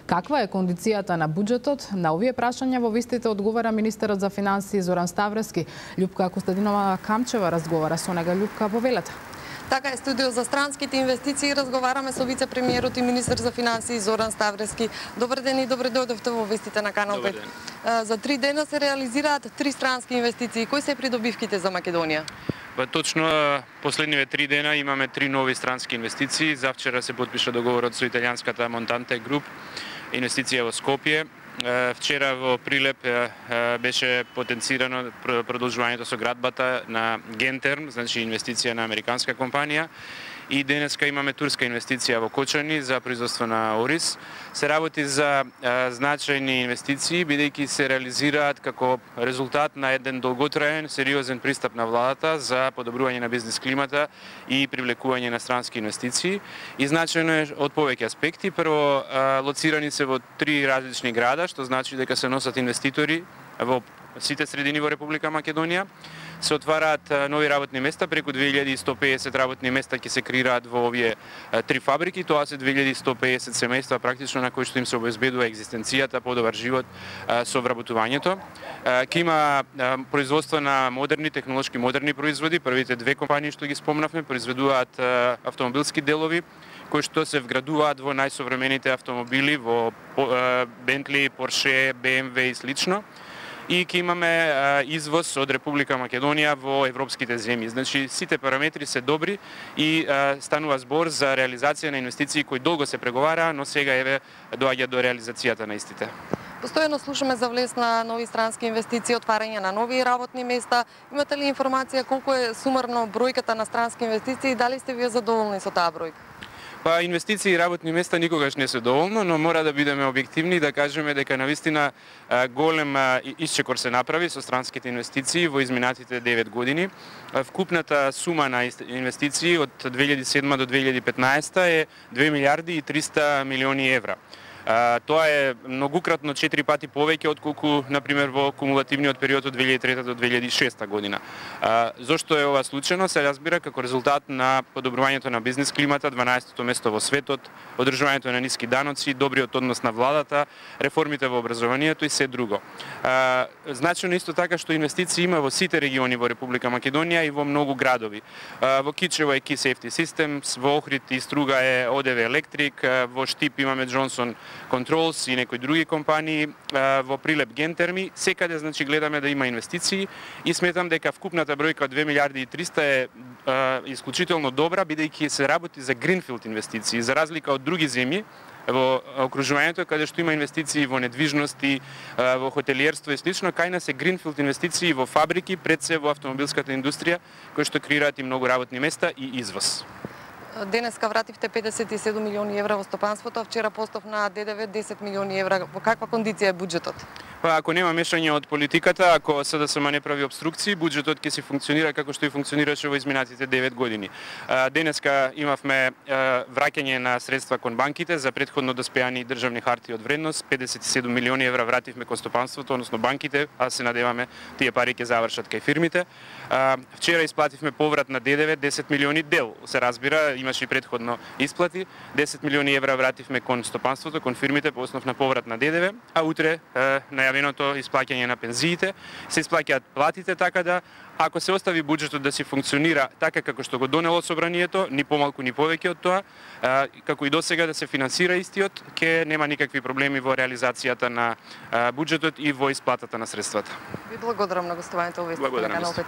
Каква е кондицијата на буџетот? На овие прашања во вистите одговара министерот за финансии Зоран Ставрески. Љупка Костадинова Камчева разговара со нега. Љупка, повелете. Така е, студио за странските инвестиции. Разговараме со вице-премиерот и министер за финансии Зоран Ставрески. Добар ден и добре дојдовте во вестите на Канал 5. За 3 дена се реализираат 3 странски инвестиции. Кои се придобивките за Македонија? Точно последниве 3 дена имаме 3 нови странски инвестиции. Завчера се подпиша договорот со италијанската Монтанте Груп, инвестиција во Скопје. Вчера во Прилеп беше потенцирано продолжувањето со градбата на Гентерм, значи инвестиција на американска компанија. И денеска имаме турска инвестиција во Кочани за производство на ориз. Се работи за значајни инвестиции, бидејќи се реализираат како резултат на еден долготраен, сериозен пристап на владата за подобрување на бизнес климата и привлекување на странски инвестиции. И значајно е од повеќе аспекти. Прво, лоцирани се во 3 различни града, што значи дека се носат инвеститори во сите средини во Република Македонија. Се отвараат нови работни места, преку 2150 работни места ќе се креираат во овие 3 фабрики. Тоа се 2150 семејства практично на кои што им се обезбедува екзистенцијата, подобар живот со вработувањето. Ќе има производство на модерни, технолошки модерни производи. Првите 2 компании што ги спомнавме произведуваат автомобилски делови кои што се вградуваат во најсовремените автомобили, во Бентли, Порше, БМВ и слично. И ќе имаме извоз од Република Македонија во европските земји. Значи, сите параметри се добри и станува збор за реализација на инвестиции кои долго се преговараа, но сега еве доаѓа до реализацијата на истите. Постојано слушаме за влез на нови странски инвестиции, отварање на нови работни места. Имате ли информација колку е сумарно бројката на странски инвестиции и дали сте вие задоволни со таа бројка? Па инвестиции и работни места никогаш не се доволно, но мора да бидеме објективни и да кажеме дека навистина голем исчекор се направи со странските инвестиции во изминатите 9 години. Вкупната сума на инвестиции од 2007 до 2015 е 2 милиарди и 300 милиони евра. Тоа е многукратно 4 пати повеќе отколку, например, во кумулативниот период од 2003 до 2006 година. Зошто е ова случајно? Се разбира како резултат на подобрувањето на бизнес климата, 12-то место во светот, одржувањето на ниски даноци, добриот однос на владата, реформите во образованието и се друго. Значено исто така што инвестиции има во сите региони во Република Македонија и во многу градови. Во Кичево е Key Safety Systems, во Охрид и Струга е ОДВ Електрик, во Штип имаме Джонсон Controls и некои други компании, во Прилеп Гентерми. Секаде значи гледаме да има инвестиции и сметам дека вкупната бројка од 2 милиарди и 300 е исклучително добра, бидејќи се работи за гринфилд инвестиции, за разлика од други земји во окружувањето каде што има инвестиции во недвижности, во хотелиерство и слично, кај нас е гринфилд инвестиции во фабрики, пред се во автомобилската индустрија, кои што креираат и многу работни места и извоз. Денеска вративте 57 милиони евра во стопанството, а вчера постав на ДДВ 10 милиони евра. Во каква кондиција е буџетот? Па ако нема мешање од политиката, ако СДСМ не прави обструкции, буџетот ќе си функционира како што и функционираше во изминатите 9 години. Денеска имавме враќање на средства кон банките за претходно доспеани државни хартии од вредност, 57 милиони евра вративме кон стопанството, односно банките, а се надеваме тие пари ќе завршат кај фирмите. Вчера исплативме поврат на ДДВ 10 милиони дел. Се разбира, имаше и претходно исплати. 10 милиони евра вративме кон стопанството, кон фирмите по основ на поврат на ДДВ, а утре најавеното исплаќање на пензиите, се исплаќаат платите, така да ако се остави буџетот да си функционира така како што го донело собранието, ни помалку ни повеќе од тоа, како и досега да се финансира истиот, ќе нема никакви проблеми во реализацијата на буџетот и во исплатата на средствата. Ви благодарам на гостувањето во вестите на Канал 5.